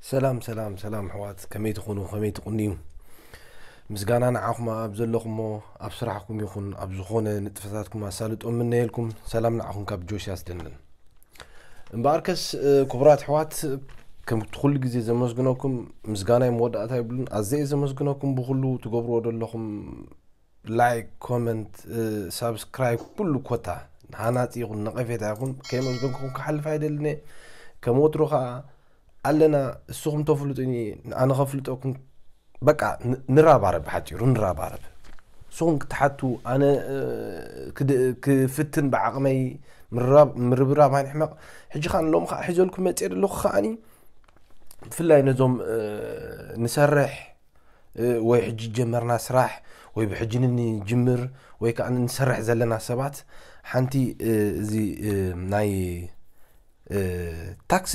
ሰላም ሰላም ሰላም ኣሕዋት፣ ከመይ ትኾኑ? ከመይ ትቕንዩ? ምስጋና ንዓኹም ኣብ ዘለኹሞ፣ ኣብ ስራሕኩም ይኹን ኣብ ዝኾነ ንጥፈታትኩም ኣሳልጦ እምነየልኩም። ሰላም ንዓኹም ካብ ጆሽ ያስደንን። እምበኣርከስ ክቡራት ኣሕዋት፣ ከም ኩሉ ግዜ ዘመስግነኩም፣ ምስጋናይ መወዳእታ የብሉን። ኣዘየ ዘመስግነኩም ብኹሉ ትገብርዎ ዘለኹም ላይክ፣ ኮመንት፣ ሳብስክራይብ፣ ኩሉ ኮታ ሃናፂ ይኹን ነቐፌታ ይኹን ከየመስገንኩም ክሓልፍ ኣይደልን እየ። ከም ወትሩ ከዓ ኣለና፣ እስኹም ተፍልጡኒ ኣነ ከፍልጠኩም። በቃ ንራባረብ፣ ብሓፂሩ ንራባረብ። ንስኹም ክትሓቱ ኣነ ክፍትን ብዓቕመይ ምርብራብ ኣይንሕመቕ። ሕጂ ከዓ ሎም ከዓ ሒዘልኩም መፅእ ዘለኹ ከዓኒ ብፍላይ ነዞም ንሰርሕ ወይ ሕጂ ጀመርና ስራሕ ወይ ብሕጂ ንጅምር ወይ ከዓ ንሰርሕ ዘለና ሰባት ሓንቲ እዚ ናይ ታክስ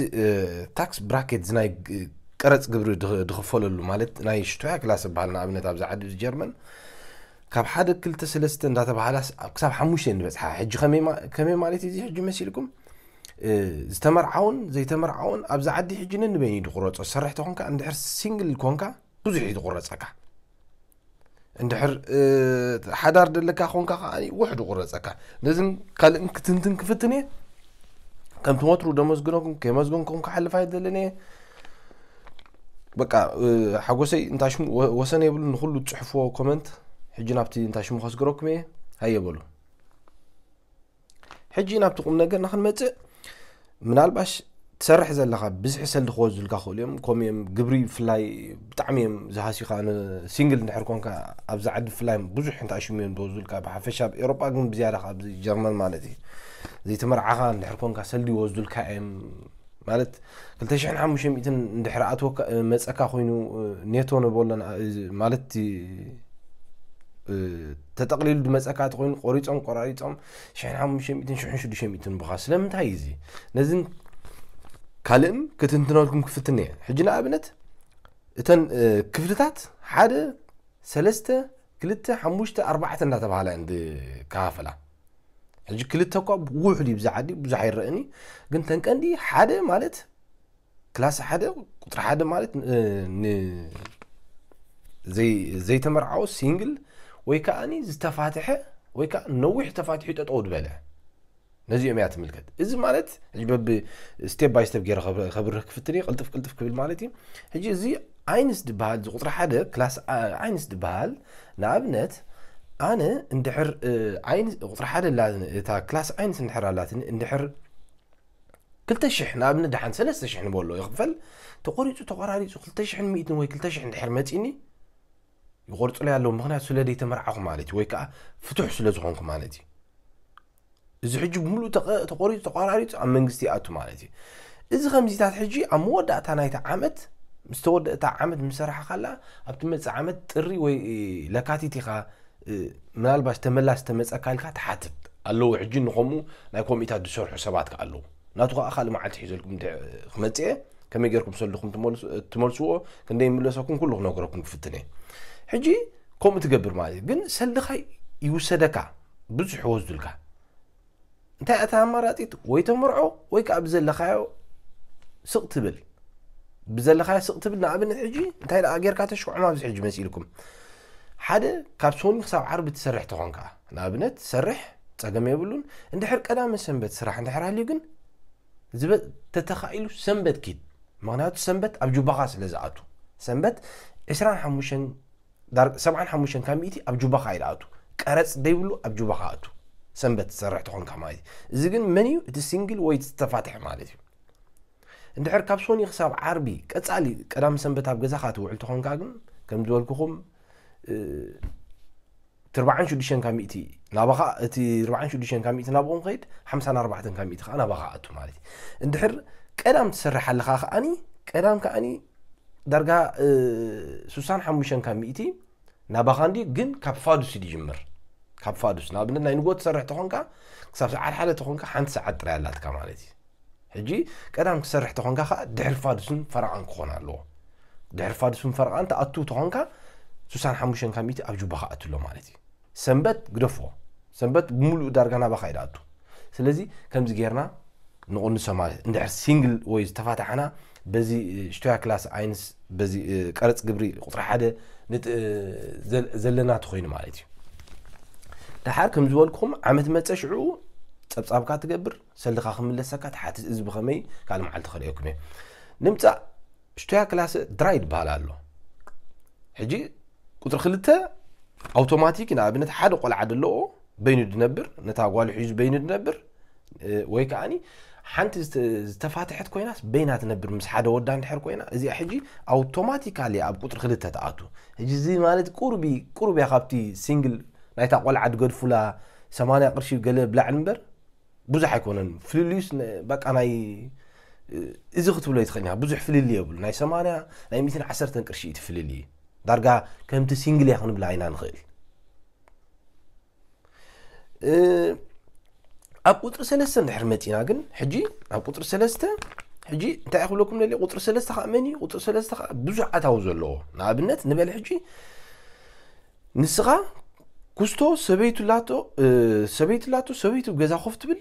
ታክስ ብራኬት ናይ ቀረፅ ግብሪ ድኽፈለሉ ማለት ናይ ሽቶያ ክላስ ዝበሃል ንኣብነት ኣብዚ ዓዲ ጀርመን ካብ ሓደ ክልተ ሰለስተ እንዳተባሃላ ክሳብ ሓሙሽተ ንበፅሓ። ሕጂ ከመይ ማለት እዚ ሕጂ መሲልኩም ዝተመርዓውን ዘይተመርዓውን ኣብዚ ዓዲ ሕጂ ነንበይኑ ድቁረፆ። ዝሰርሕ ተኾንካ እንድሕር ሲንግል ኮንካ ብዙሕ እዩ ዝቁረፀካ። እንድሕር ሓዳር ደለካ ኮንካ ከዓ ውሕድ ቁረፀካ። ነዝን ካልእን ክትንትን ክፍትን እየ። ከምቲ ወትሩ ደመስግነኩም ከየመስገንኩም ክሓልፍ ኣይደልን እየ። በቃ ሓጎሰይ እንታሽሙ ወሰን የብሉ። ንኩሉ ትፅሕፍዎ ኮመንት ሕጂ ናብቲ እንታሽሙ ከስግረኩም እየ። ሃየ በሉ። ሕጂ ናብቲ ቁም ነገርና ክንመፅእ፣ ምናልባሽ ትሰርሕ ዘለኻ ብዝሒ ሰልዲ ክወስዱልካ ክእሉ እዮም። ከምኡ እዮም ግብሪ ብፍላይ ብጣዕሚ እዮም ዝሃስዩኻ። ሲንግል እንድሕር ኮንካ ኣብዚ ዓዲ ብፍላይ ብዙሕ እንተኣሽሙ እዮም ዝወስዱልካ። ብሓፈሻ ኣብ ኤሮጳ ግን ብዝያዳ ኣብዚ ጀርመን ማለት እዩ። ዘይተመርዓኻ እንድሕር ኮንካ ሰልዲ ይወስዱልካ እዮም። ማለት ክልተ ሽሕን ሓሙሽተ ሚእትን እንድሕር ኣትወካ መፀካ ኮይኑ ኔቶ ንበሎ ማለት ተጠቕሊሉ ድመፀካ ተኮይኑ ቆሪፆም ቆራሪፆም ሽሕን ሓሙሽተ ሚእትን ሽሕን ሽዱሽተ ሚእትን ብኻ። ስለምንታይ እዚ ነዝን ካልእን ክትንትነልኩም ክፍትን እየ። ሕጂ ንኣብነት እተን ክፍልታት ሓደ ሰለስተ ክልተ ሓሙሽተ ኣርባዕተ እንዳተባሃላ እንዲ ከፋፈላ። ሕጂ ክልተ እኳ ውሑድ እዩ ብዛ ዓዲ ብዙሕ ኣይረእኒ። ግን ተንቀንዲ ሓደ ማለት ክላስ ሓደ ቁፅሪ ሓደ ማለት ዘይተመርዓወ ሲንግል ወይ ከዓኒ ዝተፋትሐ ወይ ከዓ ነዊሕ ተፋትሑ ጠጠው ዝበለ ነዚኦም እያ ትምልከት። እዚ ማለት ሕጂ በብ ስቴፕ ባይ ስቴፕ ገይረ ከብርህ ክፍትን እየ። ቅልጥፍ ቅልጥፍ ክብል ማለት እዩ። ሕጂ እዚ ዓይንስ ዝበሃል እዚ ቁፅሪ ሓደ ክላስ ዓይንስ ዝበሃል ንኣብነት ኣነ እንድሕር ቁፅሪ ሓደ እታ ክላስ ዓይንስ እንድሕር ኣላትኒ እንድሕር ክልተ ሽሕ ንኣብነት ደሓን ሰለስተ ሽሕ ንበሎ ይኽፈል ተቆሪፁ ተቆራሪፁ ክልተ ሽሕን ሚእትን ወይ ክልተ ሽሕ እንድሕር መፂኒ ይቆርፁለይ ኣለዉ። ምክንያቱ ስለ ዘይተመርዓኹ ማለት እዩ ወይ ከዓ ፍቱሕ ስለ ዝኾንኩ ማለት እዩ። እዚ ሕጂ ብምሉእ ተቆሪፁ ተቆራሪፁ ኣብ መንግስቲ ይኣቱ ማለት እዩ። እዚ ከምዚታት ሕጂ ኣብ መወዳእታ ናይቲ ዓመት ምስ ተወደእታ ዓመት ምስ ሰራሕኻላ ኣብቲ መፅእ ዓመት ጥሪ ወይ ለካቲት ኢኻ ምናልባሽ ተመላስ ተመፀካ ኢልካ ትሓትት ኣለዉ። ሕጂ ንከምኡ ናይ ኮሚታት ዝሰርሑ ሰባት ከ ኣለዉ። ናቱ ከዓ ካልእ መዓልቲ ሒዘልኩም ክመፅእ እየ። ከመይ ገይርኩም ሰልድኹም ትመልስዎ ክንደይ ይምለሰኩም ኩሉ ክነግረኩም ክፍትን እየ። ሕጂ ከምኡ ትገብር ማለት እዩ። ግን ሰልድኻ ይውሰደካ ብዙሕ ይወስዱልካ። እንታይ እታ ኣማራፂት ወይ ተመርዖ ወይ ከዓ ብዘለካዮ ስቕ ትብል። ብዘለካዮ ስቕ ትብል ንኣብነት ሕጂ እንታይ ደኣ ጌርካ ተሽኩዖም ኣብዚ ሕጂ መሲልኩም ሓደ ካብ ሶኒ ክሳብ ዓርቢ ትሰርሕ ተኾንካ ንኣብነት ትሰርሕ ፀገም የብሉን። እንድሕር ቀዳመ ሰንበት ስራሕ እንድሕር ሃልዩ ግን ዝበ ተተኻኢሉ ሰንበት ኪድ። ምክንያቱ ሰንበት ኣብ ጁባኻ ስለ ዝኣቱ ሰንበት ዕስራን ሓሙሽተን ዳር ሰብዓን ሓሙሽተን ካብ ሚእቲ ኣብ ጁባኻ እዩ ዝኣቱ። ቀረፅ ደይብሉ ኣብ ጁባኻ ኣቱ። ሰንበት ትሰርሕ ተኾንካ ማለት እዩ። እዚ ግን መን እዩ እቲ ሲንግል ወይ ዝተፋትሐ ማለት እዩ። እንድሕር ካብ ሶኒ ክሳብ ዓርቢ ቀፃሊ ቀዳም ሰንበት ኣብ ገዛኻ ትውዕል ተኾንካ ግን ከም ዝበልኩኹም እቲ ኣርባዓን ሽዱሽተን ካብ ሚእቲ ናባኻ እቲ ኣርባዓን ሽዱሽተን ካብ ሚእቲ ናብኦም ከይድ ሓምሳን ኣርባዕተን ካብ ሚእቲ ከዓ ናባኻ ኣቱ ማለት እዩ። እንድሕር ቀዳም ትሰርሕ ኣለኻ ከዓኒ ቀዳም ከዓኒ ዳርጋ ሱሳን ሓሙሽተን ካብ ሚእቲ ናባኻ እንዲ ግን ካብ ፋዱስ እዩ ዝጅምር። ካብ ፋዱስ ንኣብነት ናይ ንጎ ትሰርሕ ተኾንካ ክሳብ ሰዓት ሓደ ተኾንካ ሓንቲ ሰዓት ጥራይ ኣላትካ ማለት እዩ። ሕጂ ቀዳም ክሰርሕ ተኾንካ ከዓ ድሕሪ ፋዱስን ፈረቓን ክኾን ኣለዎ። ድሕሪ ፋዱስን ፈረቓን ተኣቱ ተኾንካ ሱሳን ሓሙሽተን ካብ ሚእቲ ኣብ ጁባ ክኣቱ ኣሎ ማለት እዩ። ሰንበት ግደፍዎ። ሰንበት ብምሉእ ዳርጋ ናባኻ እዩ ዝኣቱ። ስለዚ ከምዚ ጌርና ንቕንሶ ማለት እንድሕር ሲንግል ወይ ዝተፋታሕና በዚ ሽቶያ ክላስ ኣይንስ በዚ ቀረፅ ግብሪ ቁፅሪ ሓደ ዘለና ተኮይኑ ማለት እዩ። ደሓር ከም ዝበልኩኹም ዓመት መፀ ሽዑ ፀብፃብካ ትገብር፣ ሰልድኻ ክምለሰካ ትሓትት። እዚ ብኸመይ ካልእ መዓልቲ ከርእየኩም እየ። ንምፃእ ሽቶያ ክላስ ድራይ ይበሃል ኣሎ። ሕጂ ቁፅሪ ክልተ ኣውቶማቲክ ንኣብነት ሓደ ቆልዓ ዘለዎ በይኑ ድነብር፣ ነታ ጓሉ ሒዙ በይኑ ድነብር፣ ወይ ከዓኒ ሓንቲ ዝተፋትሐት ኮይናስ በይና ትነብር ምስ ሓደ ወዳ እንድሕር ኮይና እዚኣ ሕጂ ኣውቶማቲካሊ ኣብ ቁፅሪ ክልተ ትኣቱ። ሕጂ እዚ ማለት ቁርቢ ቁርብ እያ ካብቲ ሲንግል ናይታ ቆልዓ ድገድፉላ ሰማንያ ቅርሺ ገለ ብላዕሊ እምበር ብዙሕ ኣይኮነን ፍልልዩስ። በቃ ናይ እዚ ክትብሎ ይትኽእል ኢኻ። ብዙሕ ፍልልይ የብሉ ናይ ሰማንያ ናይ ሚትን ዓሰርተን ቅርሺ እቲ ፍልልይ። ዳርጋ ከምቲ ሲንግል እያ ክንብላ ኢና ንኽእል። ኣብ ቁፅሪ ሰለስተ እንድሕር መፂና ግን ሕጂ ኣብ ቁፅሪ ሰለስተ ሕጂ እንታይ ክብለኩም ደልየ ቁፅሪ ሰለስተ ከዓ መን እዩ? ቁፅሪ ሰለስተ ከዓ ብዙሕ ኣታዊ ዘለዎ ንኣብነት ንበል ሕጂ ንስኻ ኩስቶ ሰበይቱ ላቶ ሰበይቱ ላቶ ሰበይቱ ገዛ ኮፍ ትብል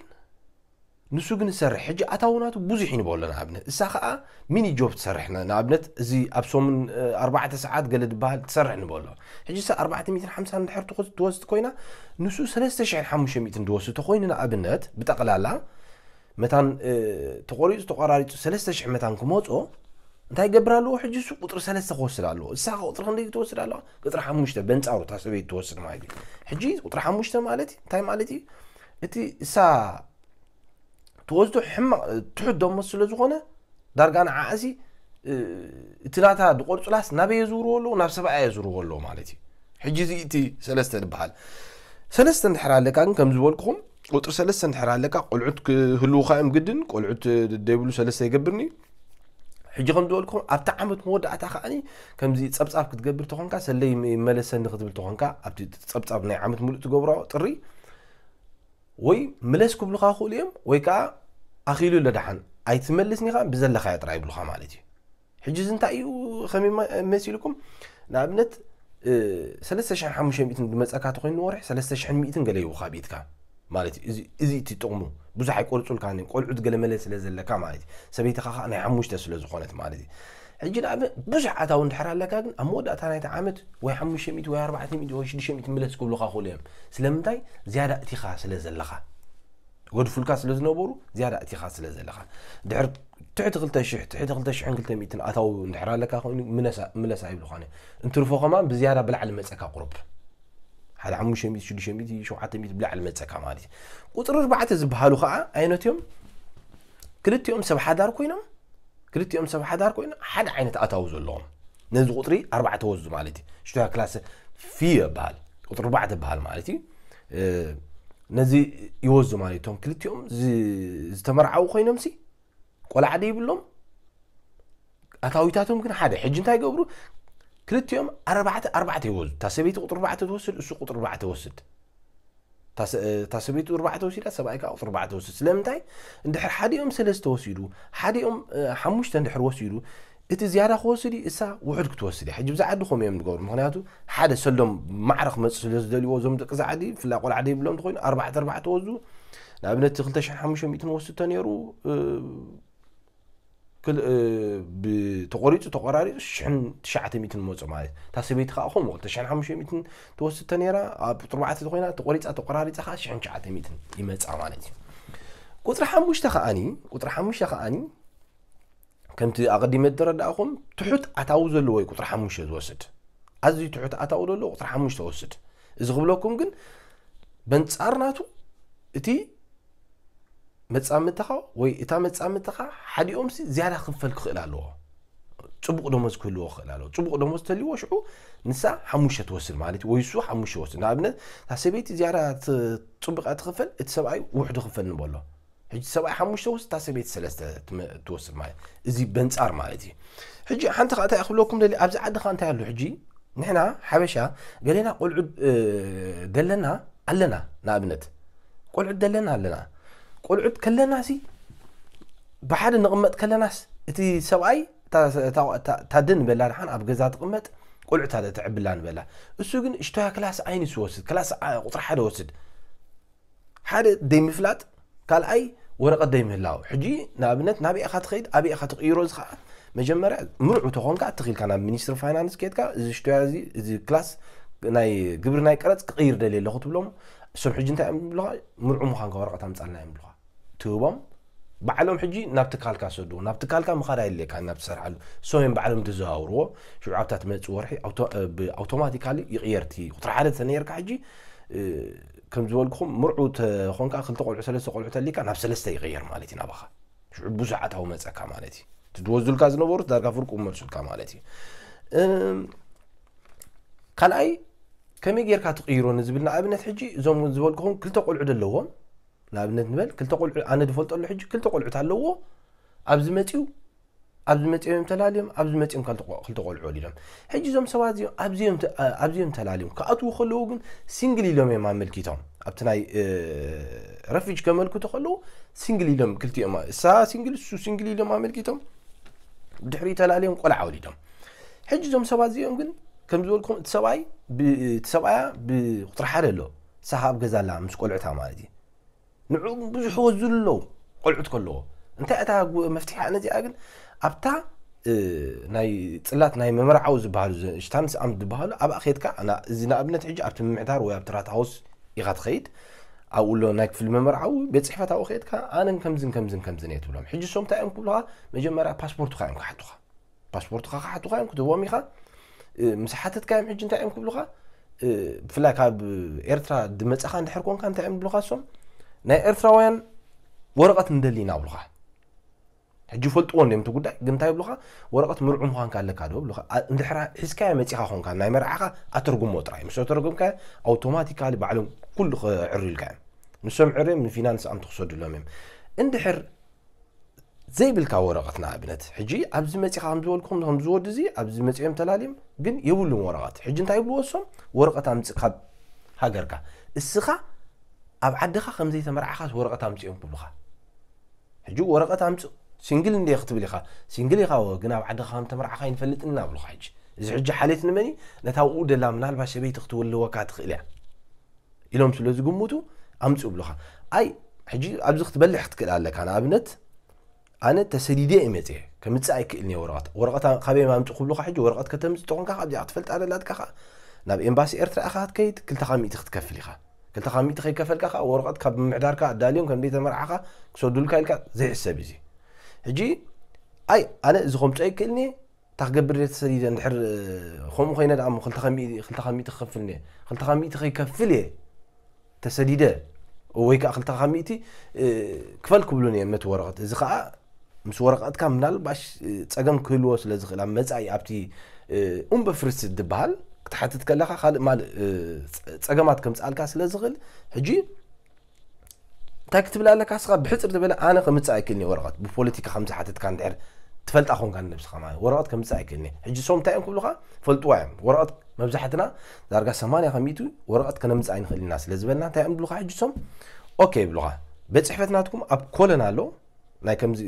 ንሱ ግን ዝሰርሕ ሕጂ ኣታዊ ናቱ ብዙሕ እዩ ንበሎ ንኣብነት እሳ ከዓ ሚኒ ጆብ ትሰርሕ ንኣብነት እዚ ኣብ ሰሙን ኣርባዕተ ሰዓት ገለ ዝበሃል ትሰርሕ ንበሎ። ሕጂ እሳ ኣርባዕተ ሚእትን ሓምሳን እንድሕር ትወስድ ኮይና ንሱ ሰለስተ ሽሕን ሓሙሽተ ሚእትን ዝወስድ ተኮይኑ ንኣብነት ብጠቕላላ መታን ተቆሪፁ ተቆራሪፁ ሰለስተ ሽሕ መታን ክመፆ እንታይ ገብር ኣለዎ? ሕጂ እሱ ቁፅሪ ሰለስተ ክወስድ ኣለዎ። እሳ ቁፅሪ ክንደይ ትወስድ ኣለዋ? ቁፅሪ ሓሙሽተ በንፃሩ እታ ሰበይቲ ትወስድ ማለት እዩ። ሕጂ ቁፅሪ ሓሙሽተ ማለት እንታይ ማለት እዩ? እቲ እሳ ትወስዶ ሕማቕ ትሑት ደሞዝ ስለ ዝኾነ ዳርጋ ንዓኣሲ እቲ ናታ ድቆርፁላስ ናበይ የዝውርዎ ኣለዉ? ናብ ሰብኣያ የዝውርዎ ኣለዉ ማለት እዩ። ሕጂ እዚ እቲ ሰለስተ ዝበሃል ሰለስተ እንድሕር ኣለካ ግን ከም ዝበልኩኹም ቁፅሪ ሰለስተ እንድሕር ኣለካ ቆልዑት ክህልውኻ እዮም ግድን። ቆልዑት ደይብሉ ሰለስተ ይገብርኒ። ሕጂ ከም ዝበልኩኹም ኣብቲ ዓመት መወዳእታ ከዓኒ ከምዚ ፀብፃብ ክትገብር ተኾንካ ሰለይ ይመለሰኒ ክትብል ተኾንካ ኣብቲ ፀብፃብ ናይ ዓመት ሙሉእ ትገብሮ ጥሪ ወይ ምለስ ክብሉኻ ክእሉ እዮም ወይ ከዓ ኣኺሉ ኣሎ ደሓን ኣይትመልስኒ ከዓ ብዘለኻዮ ጥራይ ይብሉኻ ማለት እዩ። ሕጂ እዚ እንታይ እዩ ከመይ መሲልኩም ንኣብነት ሰለስተ ሽሕን ሓሙሽተ ሚእትን ዝመፀካ ተኮይኑ ንወርሒ ሰለስተ ሽሕን ሚእትን ገለ ይውካ ቤትካ ማለት እዩ። እዚ እቲ ጥቕሙ ብዙሕ ኣይቆርፁልካ ቆልዑት ገለ መለ ስለ ዘለካ ማለት እዩ። ሰበይትኻ ከዓ ናይ ሓሙሽተ ስለ ዝኾነት ማለት እዩ። ሕጂ ንኣብነት ብዙሕ ኣታዊ እንድሕር ኣለካ ግን ኣብ መወዳእታ ናይቲ ዓመት ወይ ሓሙሽተ ሚእቲ ወይ ኣርባዕተ ሚእቲ ወይ ሽዱሽተ ሚእቲ ምለስ ክብሉካ ክእሉ እዮም። ስለምንታይ ዝያዳ እቲኻ ስለ ዘለኻ ገድፉልካ ስለ ዝነበሩ ዝያዳ እቲኻ ስለ ዘለኻ ድሕር ትሕቲ ክልተ ሽሕ ትሕቲ ክልተ ሽሕን ክልተ ሚእትን ኣታዊ እንድሕር ኣለካ ኮይኑ ምለሳ ይብሉኻ እዮም። እንትርፎ ከማን ብዝያዳ ብላዕሊ መፀካ ቁሩብ ሓደ ሓሙሽተ ሚእቲ ሽዱሽተ ሚእቲ ሸውዓተ ሚእቲ ብላዕሊ መፀካ ማለት እዩ። ቁፅሪ ኣርባዕተ ዝበሃሉ ከዓ ዓይነት እዮም። ክልቲኦም ሰብ ሓዳር ኮይኖም ክልቲኦም ሰብ ሓዳር ኮይኖም ሓደ ዓይነት ኣታዊ ዘለዎም ነዚ ቁፅሪ ኣርባዕተ ወዙ ማለት እዩ። ሽቶያ ክላስ ፊ ይበሃል ቁፅሪ ኣርባዕተ ይበሃል ማለት እዩ። ነዚ ይወዙ ማለት እቶም ክልቲኦም ዝተመርዓው ኮይኖም ሲ ቆልዓ ደይብሎም ኣታዊታቶም ግን ሓደ ሕጂ እንታይ ገብሩ ክልቲኦም ኣርባዕተ ኣርባዕተ ይወዙ እታ ሰበይቲ ቁጥሪ ኣርባዕተ ትወስድ እሱ ቁጥሪ ኣርባዕተ ወስድ እታ ሰበይቲ ቁጥሪ ኣርባዕተ ወሲዳ ሰብኣይ ከዓ ቁጥሪ ኣርባዕተ ወስድ ስለምንታይ እንድሕር ሓዲኦም ሰለስተ ወሲዱ ሓዲኦም ሓሙሽተ እንድሕር ወሲዱ እቲ ዝያዳ ክወስድ እዩ እሳ ውሑድ ክትወስድ እያ ሕጂ ብዛ ዓዲ ከምኡ እዮም ዝገብሩ ምክንያቱ ሓደ ሰሎም ማዕረ ክመፅእ ስለ ዝደልይዎ እዞም ደቂ ዛ ዓዲ ብፍላይ ቆልዓ ደይብሎም እንተኮይኑ ኣርባዕተ ኣርባዕተ ወዙ ንኣብነት ክልተ ሽሕን ሓሙሽተ ሚእትን ወስድ ተነይሩ ተቆሪፁ ተቆራሪፁ ሽሕን ትሽዓተ ሚእትን መፁ ማለት እታ ሰበይቲ ከዓ ከምኡ ክልተ ሽሕን ሓሙሽተ ሚእትን ትወስድ ተነይራ ኣብ ቁፅሪ ኣርባዕተ ኮይና ተቆሪፃ ተቆራሪፃ ከዓ ሽሕን ትሽዓተ ሚእትን ይመፃ ማለት እዩ። ቁፅሪ ሓሙሽተ ከዓኒ ቁፅሪ ሓሙሽተ ከዓኒ ከምቲ ኣቐዲመ ዝረዳእኹም ትሑት ኣታዊ ዘለዎ እዩ ቁፅሪ ሓሙሽተ ዝወስድ ኣዝዩ ትሑት ኣታዊ ዘለዎ ቁፅሪ ሓሙሽተ ወስድ እዚ ክብለኩም ግን በንፃር ናቱ እቲ መፃምድኻ ወይ እታ መፃምድኻ ሓዲኦም ዝያዳ ክፈል ክኽእል ኣለዎ ፅቡቕ ደሞዝ ክህልዎ ክኽእል ኣለዎ ፅቡቕ ደሞዝ ተልዎ ሽዑ ንሳ ሓሙሽተ ትወስድ ማለት ወይ እሱ ሓሙሽተ ወስድ ንኣብነት እታ ሰበይቲ ዝያዳ ፅቡቕ ትኽፈል እቲ ሰብኣይ ውሕዱ ክፈል ንበሎ ሕጂ ሰብኣይ ሓሙሽተ ወስድ እታ ሰበይቲ ሰለስተ ትወስድ ማለት እዚ በንፃር ማለት እዩ። ሕጂ ሓንቲ ከዓ እንታይ ክብለኩም ደሊ ኣብዚ ዓዲ ከዓ እንታይ ኣሎ ሕጂ ንሕና ሓበሻ ገሌና ቆልዑ ደለና ኣለና ንኣብነት ቆልዑት ደለና ኣለና ቆልዑት ከለና ሲ ብሓደ ንቕመጥ ከለናስ እቲ ሰብኣይ ታደ ንበላ ድሓን ኣብ ገዛ ትቕመጥ ቆልዑት ኣለ ትዕብላ ንበላ እሱ ግን ሽቶያ ክላስ ኣይንስ ወስድ ክላስ ቁፅሪ ሓደ ወስድ ሓደ ደይምፍላጥ ካልኣይ ወረቐት ዘይምህላው። ሕጂ ንኣብነት ናበይ ኢኻ ትኸይድ፣ ኣበይ ኢኻ ትቕይሮ፣ እዚ ኸዓ መጀመርያ ምርዑ ተኾንካ፣ እትኺልካ ናብ ሚኒስትሪ ፋይናንስ ኬድካ፣ እዚ ሽቶያ እዚ፣ እዚ ክላስ ናይ ግብሪ ናይ ቀረጽ ክቕይር ደልየ ኣለኹ ትብሎም። እሶም ሕጂ እንታይ እዮም ዝብሉኻ? ምርዑ ምዃንካ ወረቐት ኣምጻልና እዮም ዝብሉኻ። ትህቦም፣ ባዕሎም ሕጂ ናብ ትካልካ ሰድዎ። ናብ ትካልካ ምኻድ ኣይድልየካ፣ ናብ ትሰርሓሉ። እሶም እዮም ባዕሎም ዝዘዋውርዎ። ሽዑ ኣብታ ትመጽእ ወርሒ ኣውቶ-፣ እ፣ ብኣውቶማቲካሊ ይቕየር። እቲ ቁጽሪ ሓደ ተነይርካ ሕጂ፣ እ፣ ከም ዝበልኩኹም ምርዑ ተኾንካ ክልተ ቆልዑ ሰለስተ ቆልዑ ተሊካ ናብ ሰለስተ ይቕየር ማለት እዩ ናባኻ። ሽዑ ብዙሕ ኣታዊ መጸካ ማለት እዩ። እቲ ዝወስዱልካ ዝነበሩ ዳርጋ ፍርቁ መልሱልካ ማለት እዩ። እም፣ ካልኣይ ከመይ ጌርካ ትቕይሮ ንዝብል ንኣብነት ሕጂ እዞም ዝበልኩኹም ክልተ ቆልዑ ዘለዎም ንኣብነት ንበል ክልተ ቆልዑ ኣነ ዝፈልጠሉ ሕጂ ክልተ ቆልዑት ኣለዎ ኣብዚ መጺኡ ኣብዚ መጺኦም እዮም ተላልዮም ኣብዚ መጺኦም ካልተ ቆ- ክልተ ቆልዑ ወሊዶም ሕጂ እዞም ሰባት እዚኦም ኣብዚኦም ተ- ኣብዚኦም ተላልዮም ክኣትዉ ከለዉ ግን ሲንግል ኢሎም እዮም ኣመልኪቶም ኣብቲ ናይ እ፣ ረፊጅ ከመልክቱ ከለዉ ሲንግል ኢሎም ክልቲኦም እሳ ሲንግል እሱ ሲንግል ኢሎም ኣመልኪቶም ድሕሪ ተላልዮም ቆልዓ ወሊዶም ሕጂ እዞም ሰባት እዚኦም ግን ከም ዝበልኩም እቲ ሰብኣይ ብ- እቲ ሰብኣያ ብቁፅሪ ሓደ ኣሎ እሳ ኣብ ገዛ ኣላ ምስ ቆልዕታ ማለት እዩ ንዑ ብዙሕ ወዝሉ ኣለዉ ቆልዑት ከለዎ እንታይ እታ ጉ- መፍትሒ ነዚኣ ግን ኣብታ እ፣ ናይ ፅላት ናይ መመርዓዊ ዝበሃሉ ሽታንስ ኣምት ዝበሃሉ ኣብኣ ከድካ ና- እዚ ንኣብነት ሕጂ ኣብቲ ምምሕዳር ወይ ኣብቲ ራት ሃውስ ኢኻ ትኸይድ ኣብኡ ኣሎ ናይ ክፍሊ መመርዓዊ ቤት ፅሕፈት ኣብኡ ከድካ ኣነን ከምዝን ከምዝን ከምዝን እየ ትብሎም ሕጂ እሶም እንታይ እዮም ክብሉኻ መጀመርያ ፓስፖርትካ እዮም ክሓቱኻ ፓስፖርትካ ክሓቱኻ እዮም ክትህቦም ኢኻ እ፣ ምስ ሓተትካ እዮም ሕጂ እንታይ እዮም ክብሉኻ እ፣ ብፍላይ ካብ ኤርትራ ድመጻኻ እንድሕር ኮንካ እንታይ እዮም ብሉኻ እሶም ናይ ኤርትራውያን ወረቐት ንደሊ ኢና ብሉኻ ሕጂ ይፈልጥዎ እንዲዮም እቲ ጉዳይ ግን እንታይ ብሉኻ ወረቐት ምርዑ ምዃንካ ኣለካ ዶ ብሉኻ ኣ- እንድሕር ሒዝካዮ መጺኻ ኮንካ ናይ መርዓኻ ኣተርጉሞ ጥራይ ምስ ኣተርጉምካዮ ኣውቶማቲካሊ ባዕሎም ኩሉ ክዕርዩልካ እዮም ንሶም ዕርዮም ንፊናንስ ኣምቲ ክሰዱሎም እዮም እንድሕር ዘይብልካ ወረቐት ንኣብነት ሕጂ ኣብዚ መፂኻ ከም ዝበልኩም ከም ዝወዲ እዚ ኣብዚ መፂኦም ተላልዮም ግን የብሉን ወረቐት ሕጂ እንታይ ይብልዎ እሶም ወረቐት ኣምፅእ ካብ ሃገርካ እስኻ ኣብ ዓድኻ ከም ዘይተመርዓኻስ ወረቐት ኣምፅኦም ክብሉኻ ሕጂ ወረቐት ኣምፅእ ሲንግል እንደ ክትብል ኢኻ ሲንግል ኢኻ ወ ግን ኣብ ዓድኻ ከም ተመርዓኻ ይንፈልጥና ብሉኻ ሕጂ እዚ ሕጂ ሓሌት ንመን እዩ ነታ ውኡ ደላ ምናልባት ሰበይቲ ክትወልወካ ትኽእል እያ ኢሎም ስለ ዝግምቱ ኣምፅኡ ብሉኻ ኣይ ሕጂ ኣብዚ ክትበልሕ ክትክእል ኣለካ ንኣብነት ኣነ ተሰዲደ እየ መፅየ ከምፅእ ኣይክእልን እየ ወረቐት ወረቐት ካበይ ማምፅእ ክብሉካ ሕጂ ወረቐት ከተምፅእ ተኾንካ ካብዚኣ ክትፈልጣ ደላትካ ከዓ ናብ ኤምባሲ ኤርትራ ኢኻ ክትከይድ ክልተኻ ሚእቲ ክትከፍል ኢኻ ክልተኻ ሚእቲ ከይከፈልካ ከዓ ወረቐት ካብ ምምሕዳርካ ኣዳልዮም ከም ዘይተመርዓኻ ክሰዱልካ ኢልካ ዘይሕሰብ እዚ ሕጂ ኣይ ኣነ እዚ ከምፅኦ ኣይክእልን እየ እታ ክገብር ድየ ተሰዲደ እንድሕር ከምኡ ኮይነ ደኣ እሞ ክልተ ከሚእቲ ክልተ ከሚእቲ ክኸፍል እየ ክልተ ከሚእቲ ከይከፍል እየ ተሰዲደ ወይ ከዓ ክልተ ከሚእቲ ክፈል ክብሉን እዮም ነቲ ወረቐት እዚ ከዓ ምስ ወረቐትካ ምናልባሽ ፀገም ክህልዎ ስለ ዝኽእል ኣብ መፃኢ ኣብቲ ኡምበ ፍርስ ዝበሃል ክትሓትት ከለካ ካልእ ማል ፀገማት ከምፅኣልካ ስለ ዝኽእል ሕጂ እንታይ ክትብል ኣለካ ስኻ ብሕፅር ዝበለ ኣነ ከምፅእ ኣይክእልን ወረቐት ብፖለቲካ ከም ዝሓተትካ እንድሕር ትፈልጣ ኮንካ ንነብስኻ ማለት ወረቐት ከምፅእ ኣይክእልን ሕጂ ሶም እንታይ እዮም ክብሉኻ ፈልጥዋ እዮም ወረቐት መብዛሕትና ዳርጋ ሰማንያ ከሚቱ ወረቐት ከነምፅእ ኣይንኽእል ኢና ስለ ዝበልና እንታይ እዮም ብሉኻ ሕጂ ሶም ኦኬ ይብሉኻ ቤት ፅሕፈት ናትኩም ኣብ ኮለን ኣሎ ናይ ከምዚ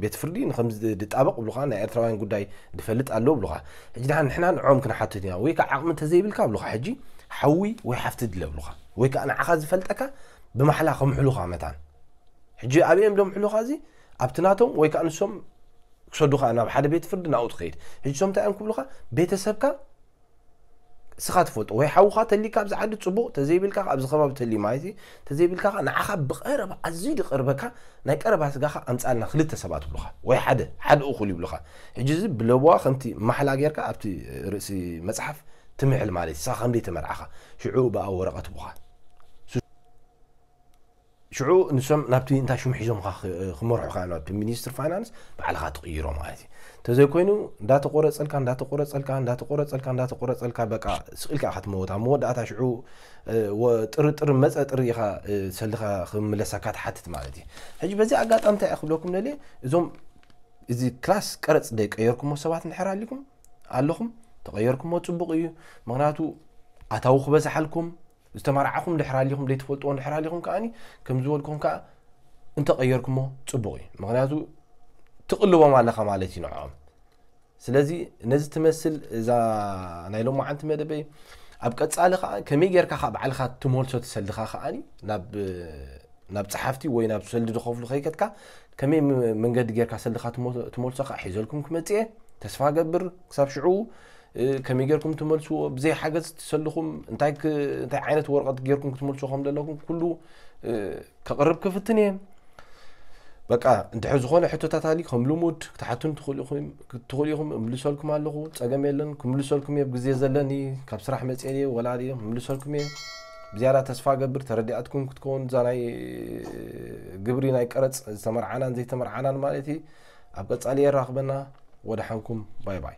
ቤት ፍርዲ ንከምዚ ድጣበቕ ብሉኻ ናይ ኤርትራውያን ጉዳይ ድፈልጥ ኣሎ ብሉኻ ሕጂ ድሓን ንሕና ንዖም ክንሓትት ኢና ወይ ከዓ ዓቕሚ እንተዘይብልካ ብሉኻ ሕጂ ሓዊ ወይ ሓፍቲ ድለ ብሉኻ ወይ ከዓ ንዓኻ ዝፈልጠካ ብማሕላ ከምሕሉኻ መታን ሕጂ ኣበዮም ዶምሕሉኻ እዚ ኣብቲ ናቶም ወይ ከዓ ንሶም ክሰዱኻ ናብ ሓደ ቤት ፍርዲ ናብኡ ትኸይድ ሕጂ ሶም እንታይ እዮም ክብሉኻ ቤተሰብካ ስኻ ትፈልጦ ወይ ሓውኻ ተሊካ ኣብዚ ዓዲ ፅቡቕ ተዘይብልካ ኣብዚ ከባቢ ተሊ ማለት እዩ ተዘይብልካ ከዓ ንዓኻ ብቐረባ ኣዝዩ ዝቐርበካ ናይ ቀረባ ስጋኻ ኣምፃልና ክልተ ሰባት ይብሉኻ ወይ ሓደ ሓደ እኹል ይብሉኻ ሕጂ እዚ ብለበዋ ከምቲ ማሕላ ጌርካ ኣብቲ ርእሲ መፅሓፍ ትምሕል ማለት እዩ ስኻ ከም ዘይተመርዓኻ ሽዑ ብኣ ወረቐት ይቡኻ ሽዑ ንሶም ናብቲ እንታይ ሽም ሒዞምካ ክመርሑካ ናብቲ ሚኒስትር ፋይናንስ ባዕልካ ትቕይሮ ማለት እዩ እንተዘይኮይኑ እንዳተቆረፀልካ እንዳተቆረፀልካ እንዳተቆረፀልካ እንዳተቆረፀልካ በቃ ስቕ ኢልካ ኢኻ ትመወት ኣብ መወዳእታ ሽዑ ጥርጥር መፀ ጥሪ ኢኻ ሰልኻ ክምለሰካ ትሓትት ማለት እዩ ሕጂ በዚ ኣጋጣሚ እንታይ ክብለኩም ደልየ እዞም እዚ ክላስ ቀረፅ ደይ ቀየርኩሞ ሰባት እንድሕር ኣሊኩም ኣለኹም ተቐየርኩሞ ፅቡቕ እዩ ምክንያቱ ኣታዊ ክበዝሓልኩም ዝተመርዓኹም ድሕር ኣሊኹም ዘይትፈልጥዎ ድሕር ኣሊኹም ከዓኒ ከም ዝበልኩም ከዓ እንተቐየርኩሞ ፅቡቕ እዩ ምክንያቱ ትቕልቦም ኣለኻ ማለት እዩ ንዕኦም ስለዚ ነዚ ትመስል እዛ ናይ ሎማዓንቲ መደበይ ኣብ ቀፃሊ ከዓ ከመይ ጌርካ ከዓ ባዕልካ ትመልሶ ትሰልኻ ከዓኒ ናብ ናብ ጸሓፍቲ ወይ ናብ ሰልዲ ዝኸፍሉ ከይከድካ ከመይ መንገዲ ጌርካ ሰልድኻ ትመልሶ ከዓ ሒዘልኩም ክመጽእ እየ። ተስፋ ገብር ክሳብ ሽዑ ከመይ ጌርኩም ትመልስዎ፣ ብዘይ ሓገዝ ትሰልኹም እንታይ ዓይነት ወረቐት ጌርኩም ክትመልስዎ ከም ዘለኩም ኩሉ ከቕርብ ክፍትን እየ። በቃ እንድሕር ዝኾነ ሕቶታት ኣሊ ከም ልሙድ ክትሓቱን ትኽእሉ ኢኹም፣ እምልሰልኩም ኣለኹ፣ ጸገም የለን። ክምልሰልኩም እየ፣ ግዜ ዘለኒ፣ ካብ ስራሕ መጽኤ እየ፣ ወላ እየ፣ ክምልሰልኩም እየ። ብዝያዳ ተስፋ ገብር ተረዲኣትኩም ክትከውን እዛ ናይ ግብሪ ናይ ቀረጽ ዝተመርዓናን ዘይተመርዓናን ማለት እዩ። ኣብ ቀጻሊ የራኽበና። ወደ ሓንኩም፣ ባይ ባይ።